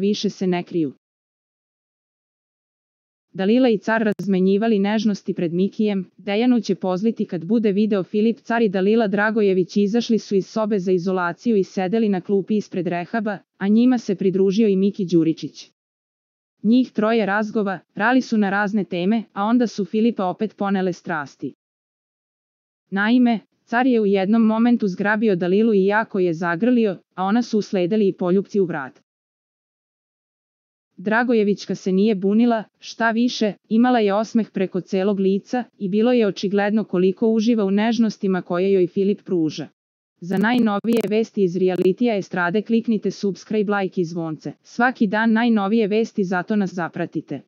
više se ne kriju. Dalila i car razmenjivali nežnosti pred Mikijem. Dejanu će pozliti kad bude video Filip. Car i Dalila Dragojević izašli su iz sobe za izolaciju i sedeli na klupi ispred rehaba, a njima se pridružio i Miki Đuričić. Njih troje razgovarali su na razne teme, a onda su Filipa opet ponele strasti. Naime, car je u jednom momentu zgrabio Dalilu i jako je zagrlio, a ona su usledili i poljupci u vrat. Dragojevićka se nije bunila, šta više, imala je osmeh preko celog lica i bilo je očigledno koliko uživa u nežnostima koje joj Filip pruža. Za najnovije vesti iz realitija estrade kliknite subscribe, like i zvonce. Svaki dan najnovije vesti, zato nas zapratite.